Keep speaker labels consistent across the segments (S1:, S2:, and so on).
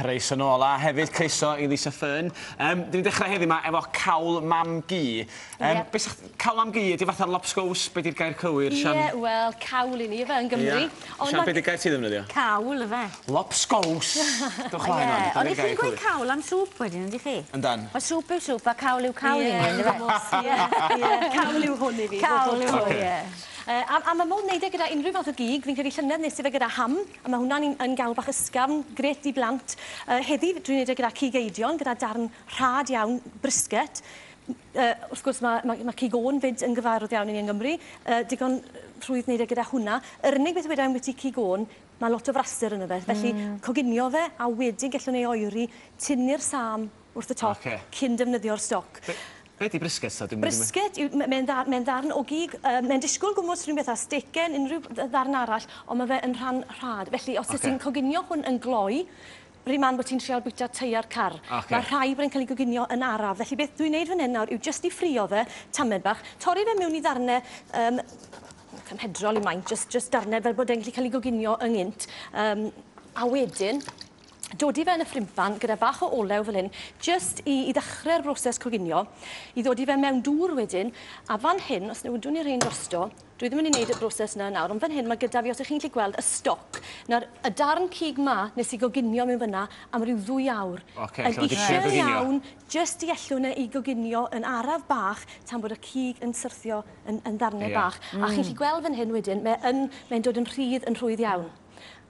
S1: Croeso nôl a hefyd croeso i Lisa Fearn. Dyn ni'n dechrau heddiw 'ma efo cawl mam-gu.
S2: Yep.
S1: Be sa- cawl mam-gu ydi fatha lobsgows, be 'di'r gair cywir, Sian?
S2: Ie, wel, cawl i ni ife, yn Gymru.
S1: Ie. Sian, be 'di'r gair ti ddefnyddio?
S3: Cawl ife.
S1: Lobsgows! Dewch mlaen wan.
S3: Ie, ond 'ych chi'n gweud cawl am sŵp wedyn, yndych chi?
S1: Yndan.
S3: Wel, sŵp yw sŵp a cawl yw cawl i ni, yndyfe?
S2: Ie, ie, cawl yw hwn i fi.
S3: Cawl yw hwn, ie.
S2: A ma' modd neud e gyda unrhyw fath o gig. Fi'n credu llynedd nes i fe gyda ham, a ma' hwnna'n un yn gawl bach ysgafn, grêt i blant. Heddi dwi'n neud e gyda cig eidion, gyda darn rhad iawn, brisket. Wrth gwrs ma' ma' ma' cig ôn 'fyd yn gyfarwydd iawn i ni yng Nghymru. Digon rhwydd neud e gyda hwnna. Yr unig beth weda i ambyti cig ôn, ma' lot o fraster yno fe. Felly coginio fe a wedyn gellwn ei oeri, tynnu'r sâm wrth y top cyn defnyddio'r stoc.
S1: Be 'di brisket ta? Dwi'm
S2: Brisket yw mae'n mae ddarn o gig, mae'n disgwyl gwmws rhywun beth â stecen, unrhyw ddarn arall, ond mae fe yn rhan rhad. Felly os wyt ti'n coginio hwn yn gloi, rhi man bod ti'n trial bwyta teiar car. Mae rhai bod yn cael ei goginio yn araf. Felly beth dwi'n neud fan hyn nawr yw jyst i ffrio fe, tamed bach, torri fe mewn i ddarnau cymhedrol i maint, jyst darnau fel bod e'n gallu cael ei goginio yng gynt. A wedyn, dodi fe yn y ffrimpan gyda bach o olew fel hyn, jyst i ddechrau'r broses coginio, i ddodi fe mewn dŵr wedyn, a fan hyn, os newidwn ni rhain drosto, dwi ddim yn mynd i wneud y broses yna nawr, ond fan hyn mae gyda fi, os ych chi'n gallu gweld, y stoc. Nawr, y darn cig ma nes i goginio mewn fyna am ryw 2 awr.
S1: Ocê,
S2: Yn
S1: so ma' 'di trio
S2: uchel
S1: goginio.
S2: iawn, jyst i ellwn e i goginio yn araf bach tan bod y cig yn syrthio yn ddarnau bach. A chi'n gallu gweld fan hyn wedyn, mae'n dod yn rhydd yn rhwydd iawn.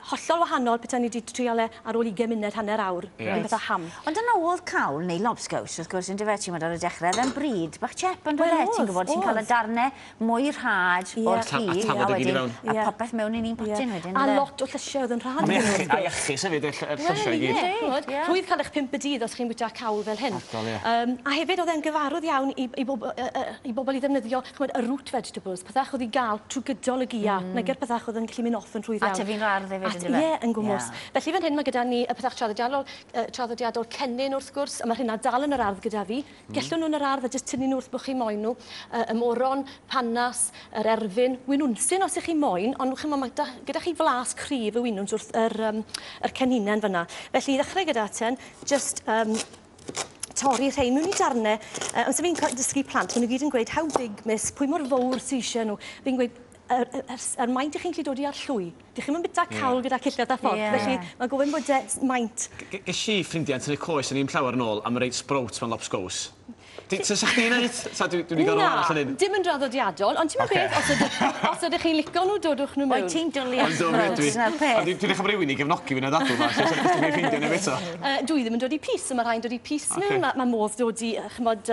S2: Hollol wahanol petai ni wedi trial e ar ôl 20 munud, hanner awr. Rhywun fath o ham.
S3: Ond dyna oedd cawl neu lobsgows, wrth gwrs, yndyfe, ti'n gwbod ar y dechrau, oedd e'n bryd bach chep, ond oedd e, ti'n gwybod, ti'n cael y darnau mwy rhad o'r
S1: A
S3: cig, a
S1: tafod i gyd i
S3: wedyn,
S1: fewn.
S3: a popeth mewn i'n un potyn wedyn,
S2: A
S3: yndyfe?
S2: lot o llysiau oedd yn rhad.
S1: Ond
S2: iddyn nhw, wrth
S1: a
S2: gwrs.
S1: iachus hefyd, y llysiau i gyd.
S2: Wel, ie, ch'mod, rhwydd cael eich 5 y dydd os chi'n bwyta cawl fel hyn.
S1: Hollol, ie.
S2: A hefyd oedd e'n gyfarwydd iawn i bobl i ddefnyddio, ch'mod, y root vegetables, pethach oedd i gael trwy gydol y gia, nage'r pethach oedd yn gallu mynd off yn rhwydd
S3: A
S2: iawn.
S3: tyfu'n ardd hefyd, yndyfe?
S2: Ie, yn gwmws. Felly fan hyn mae gyda ni y pethach traddodiadol cennin wrth gwrs, a mae rheina dal yn yr ardd gyda fi. Gellwn nhw yn yr ardd a jyst tynnu nhw wrth bod chi moyn nhw. Y moron, panas, yr erfyn, winwnsyn os ych chi moyn, ond ch'mo, mae gyda chi flas cryf y winwns wrth yr cenhinen fyna. Felly i ddechrau gyda ten, jyst torri rhein mewn i darnau. Amser fi'n dysgu plant, maen nhw gyd yn gweud, "How big, miss?" Pwy mor fawr sy eisiau nhw? Fi'n gweud, yr maint ych chi'n gallu dod i ar llwy. Dych chi'm yn byta cawl gyda cillad a fforc, felly mae gofyn bod e maint.
S1: Ges i ffrindiau yn tynnu coes yn un llawer yn ôl am reit sprout mewn lobsgows. Sa chdi'n neud? Sa dwi wedi gorfod arall yn
S2: Na,
S1: hyn?
S2: dim yn draddodiadol, ond ti'n beth, os ydych chi'n licio nhw, dodwch nhw mewn.
S3: Wyt ti'n dwlu
S1: Ond do, mi ydw i.
S3: sprouts, na'r peth.
S1: A dwi'n edrych am rywun i gefnogi fi yn y ddadl yma, lle sa dwi'n ffeindio neb eto.
S2: Dwi ddim yn dod i pys, a mae rhai'n dod i pys mewn. Mae modd dod i, ch'mod,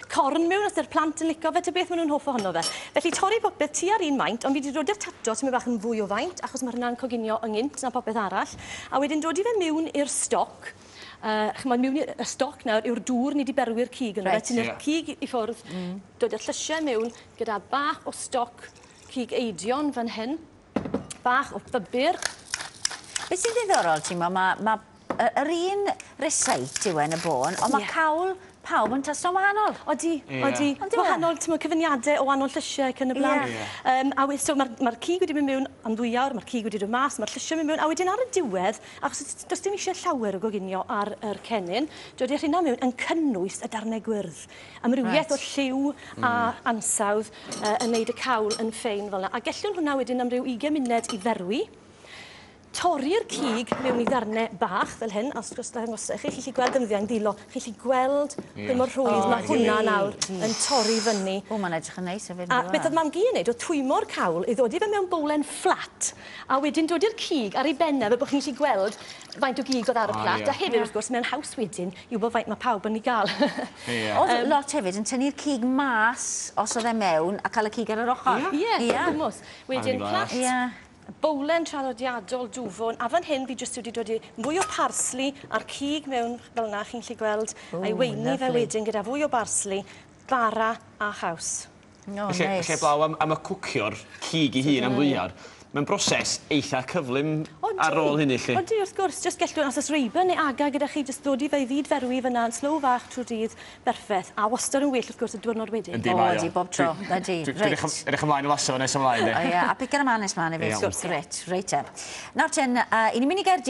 S2: corn mewn, os ydy'r plant yn licio fe, ta beth maen nhw'n hoff ohono fe. Felly torri popeth tu ar un maint, ond fi wedi dod i'r tato sy'n bach yn fwy o faint, achos mae hwnna'n coginio yng na popeth arall. A wedyn dod i fe mewn i'r stoc. Ch'mod, mewn i'r y stoc nawr yw'r dŵr ni wedi berwi'r cig yno fe. Tynnu'r cig i ffwrdd, dod â'r llysiau mewn gyda bach o stoc cig eidion fan hyn, bach o bybur.
S3: Beth sy'n ddiddorol, ti'n meddwl, ma yr un receipt yw e yn y bôn, ond mae cawl pawb yn tasto'n wahanol.
S2: Odi, odi.
S3: Ond yw e?
S2: Wahanol, ti'n meddwl, cyfuniadau o wahanol llysiau ac yn y blaen. A so ma cig wedi mynd mewn am 2 awr, mae'r cig wedi dod mas, mae'r llysiau mynd mewn, a wedyn ar y diwedd, achos does dim eisiau llawer o goginio ar yr cennin, dod i'r rheina mewn yn cynnwys y darnau gwyrdd. Amrywiaeth o lliw a ansawdd yn neud y cawl yn ffein fel yna. A gellwn hwnna wedyn am ryw 20 munud i ferwi. Torri'r cig mewn i ddarnau bach fel hyn, a os gwrs dangos i chi, chi'n gallu gweld defnyddio dilo, chi'n gallu gweld pa mor rhwydd mae hwnna nawr yn torri fyny.
S3: O, mae'n edrych yn neis hefyd,
S2: A
S3: yndyw e?
S2: beth oedd mam-gu yn neud, oedd twymo'r cawl i ddod i fe mewn bowlen fflat, a wedyn dod i'r cig ar ei bennau, fel bod chi'n gallu gweld faint o gig oedd ar y plat. A hefyd, wrth gwrs, mewn haws wedyn i wybod faint mae pawb yn ei gael.
S3: Oedd lot hefyd yn tynnu'r cig mas os oedd e mewn a cael y cig ar yr ochr.
S2: Ie, gwmws. Wedyn
S1: Anifal.
S2: plat. Bowlen traddodiadol dwfwn, a fan hyn fi jyst wedi dod i fwy o parsli a'r cig mewn fel yna, chi'n gallu gweld, a'i weini fe wedyn gyda fwy o barsli, bara a chaws.
S3: O,
S1: Felly,
S3: neis.
S1: felly blaw am y cwcio'r cig i hun am 2 awr, mae'n broses eitha cyflym ar ôl hynny, lle.
S2: Odi, wrth gwrs, jyst gellwn, os oes reuben neu aga gyda chi, jyst ddod i fe i ddyd ferwi fyna yn slow fach trwy'r dydd, berffaith. A wastad yn well, wrth gwrs, y diwrnod wedyn.
S1: Yndi,
S3: O,
S1: mae o.
S3: ydi, bob tro. Ydi,
S1: Dwi'n
S3: reit.
S1: edrych ymlaen i laso nes ymlaen, de.
S3: O ie, a piga'r ymlaen nes mlaen hefyd.
S1: Iawn.
S3: Reit, reit te. Nawr ten, i ni'n mynd i Gaerdydd.